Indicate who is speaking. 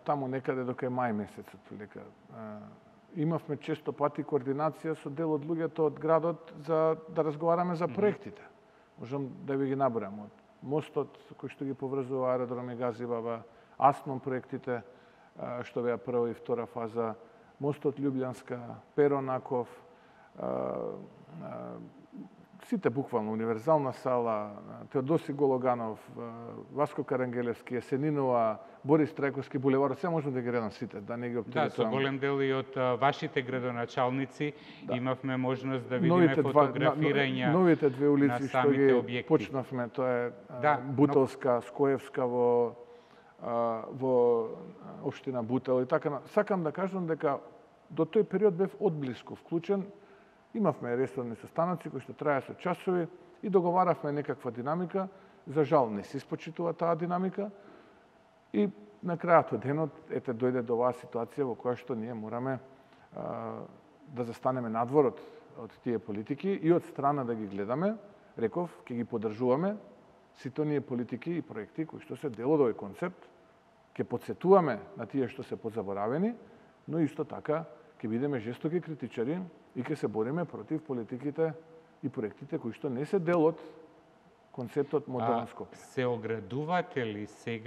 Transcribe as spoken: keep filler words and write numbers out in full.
Speaker 1: Таму некаде до кај мај месец отприлика. Имавме често пати координација со дел од луѓето од градот за да разговараме за проектите. Можам да ви ги набројам. Од мостот кој што ги поврзува аеродром и Газивава, Асмон проектите што беа прва и втора фаза, мостот Љубљанска, Перонаков, сите буквално, Универзална сала, Теодоси Гологанов, Васко Карангелевски, Есенинова, Борис Трајковски булевар, се можам да ги редам сите, да не ги оптеретувам.
Speaker 2: Да, со голем дел и од вашите градоначалници да. Имавме можност да видиме новите фотографирања
Speaker 1: новите две улици
Speaker 2: што ги објекти.
Speaker 1: Почнавме, тоа е
Speaker 2: да,
Speaker 1: Бутелска, но... Скоевска во во општина Бутел и така. Сакам да кажам дека до тој период бев одблиску вклучен. Имавме ресорни состаноци кои што траја со часови и договаравме некаква динамика. За жал не се испочитува таа динамика и на крајот од денот ете дојде до оваа ситуација во која што ние мораме а, да застанеме надвор од, од тие политики и од страна да ги гледаме. Реков, ќе ги поддржуваме сите оние политики и проекти кои што се дел од овој концепт, ќе потсетуваме на тие што се позаборавени, но исто така ќе бидеме жестоки критичари и ќе се бориме против политиките и проектите кои што не се дел од концептот модерно Скопје.
Speaker 2: Се оградувате ли сега